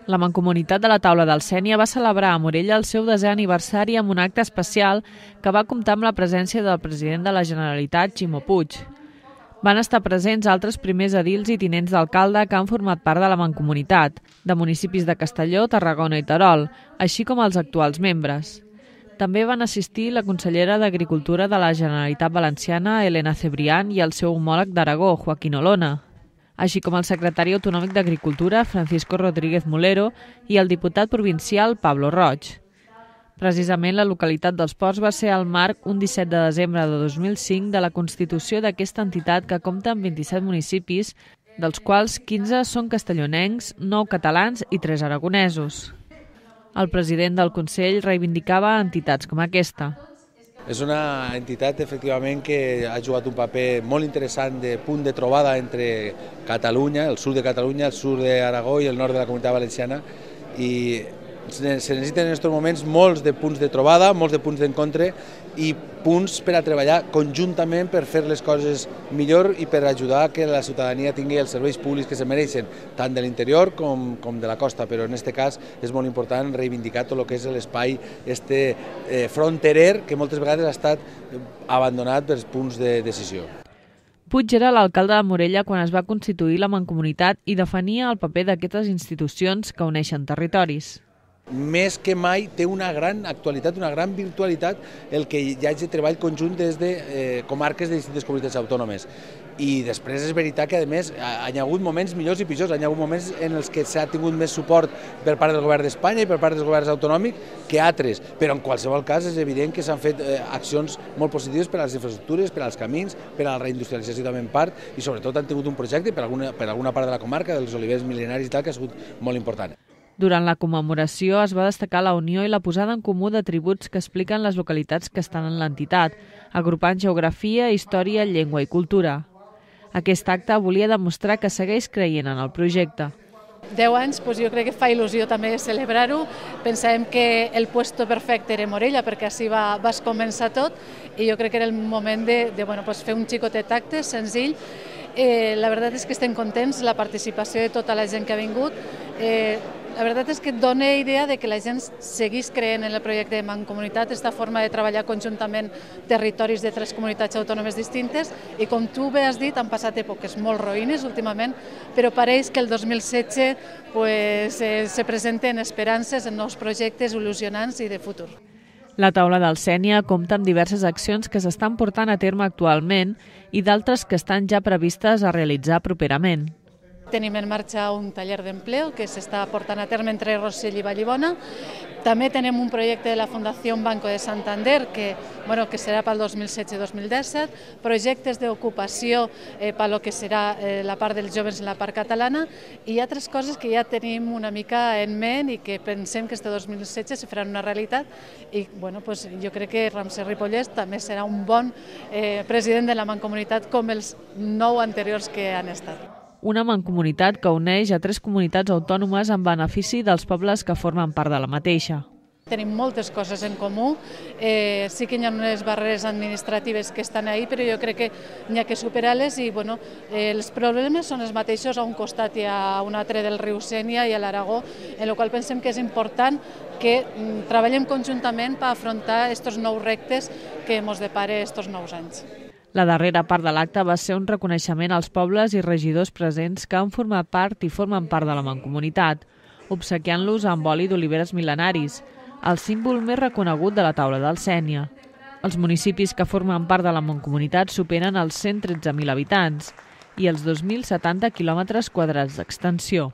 La Mancomunitat de la Taula del Sénia va celebrar a Morella el seu 10è aniversari amb un acte especial que va comptar amb la presència del president de la Generalitat, Ximo Puig. Van estar presents altres primers edils i tinents d'alcalde que han format part de la Mancomunitat, de municipis de Castelló, Tarragona i Terol, així com els actuals membres. També van assistir la consellera d'Agricultura de la Generalitat Valenciana, Elena Cebrián, i el seu homòleg d'Aragó, Joaquín Olona, així com el secretari autonòmic d'Agricultura, Francisco Rodríguez Mulero, i el diputat provincial, Pablo Roig. Precisament la localitat dels Ports va ser el marc un 17 de desembre de 2005 de la constitució d'aquesta entitat que compta amb 27 municipis, dels quals 15 són castellonencs, 9 catalans i 3 aragonesos. El president del Consell reivindicava entitats com aquesta. És una entitat, efectivament, que ha jugat un paper molt interessant de punt de trobada entre Catalunya, el sud de Catalunya, el sud d'Aragó i el nord de la Comunitat Valenciana, i se necessiten en aquests moments molts de punts de trobada, molts de punts d'encontre i punts per a treballar conjuntament per fer les coses millor i per ajudar que la ciutadania tingui els serveis públics que se mereixen, tant de l'interior com de la costa, però en aquest cas és molt important reivindicar tot el que és l'espai fronterer que moltes vegades ha estat abandonat pels punts de decisió. Puig era l'alcalde de Morella quan es va constituir la Mancomunitat i defenia el paper d'aquestes institucions que uneixen territoris. Més que mai té una gran actualitat, una gran virtualitat el que hi hagi treball conjunt des de comarques de distintes comunitats autònomes. I després és veritat que, a més, hi ha hagut moments millors i pitjors, hi ha hagut moments en els que s'ha tingut més suport per part del govern d'Espanya i per part dels governs autonòmics que altres, però en qualsevol cas és evident que s'han fet accions molt positives per a les infraestructures, per als camins, per a la reindustrialització també en part, i sobretot han tingut un projecte per alguna part de la comarca, dels olivers mil·lenaris i tal, que ha sigut molt important. Durant la commemoració es va destacar la unió i la posada en comú d'atributs que expliquen les localitats que estan en l'entitat, agrupant geografia, història, llengua i cultura. Aquest acte volia demostrar que segueix creient en el projecte. 10 anys, jo crec que fa il·lusió també celebrar-ho. Pensàvem que el puesto perfecte era Morella, perquè així va començar tot, i jo crec que era el moment de fer un xicotet acte senzill. La veritat és que estem contents, la participació de tota la gent que ha vingut. La veritat és que dona idea de que la gent segueix creient en el projecte de Mancomunitat, aquesta forma de treballar conjuntament territoris de 3 comunitats autònomes distintes, i com tu bé has dit, han passat èpoques molt roïnes últimament, però pareix que el 2016 se presenten esperances en nous projectes il·lusionants i de futur. La Taula del Sénia compta amb diverses accions que s'estan portant a terme actualment i d'altres que estan ja previstes a realitzar properament. Tenim en marxa un taller d'empleo que s'està portant a terme entre Rossell i Vallibona. També tenim un projecte de la Fundació Banco de Santander que serà pel 2016-2017, projectes d'ocupació pel que serà la part dels joves en la part catalana, i altres coses que ja tenim una mica en ment i que pensem que este 2016 se faran una realitat, i jo crec que Ramsès Ripollès també serà un bon president de la Mancomunitat com els 9 anteriors que han estat. Una mancomunitat que uneix a 3 comunitats autònomes en benefici dels pobles que formen part de la mateixa. Tenim moltes coses en comú, sí que hi ha unes barreres administratives que estan ahí, però jo crec que hi ha que superar-les, i els problemes són els mateixos. A un costat hi ha un altre del riu Sénia i a l'Aragó, en el qual pensem que és important que treballem conjuntament per afrontar aquests nous reptes que ens depara aquests nous anys. La darrera part de l'acte va ser un reconeixement als pobles i regidors presents que han format part i formen part de la Mancomunitat, obsequiant-los amb oli d'oliveres mil·lenaris, el símbol més reconegut de la Taula del Sénia. Els municipis que formen part de la Mancomunitat superen els 113.000 habitants i els 2.070 quilòmetres quadrats d'extensió.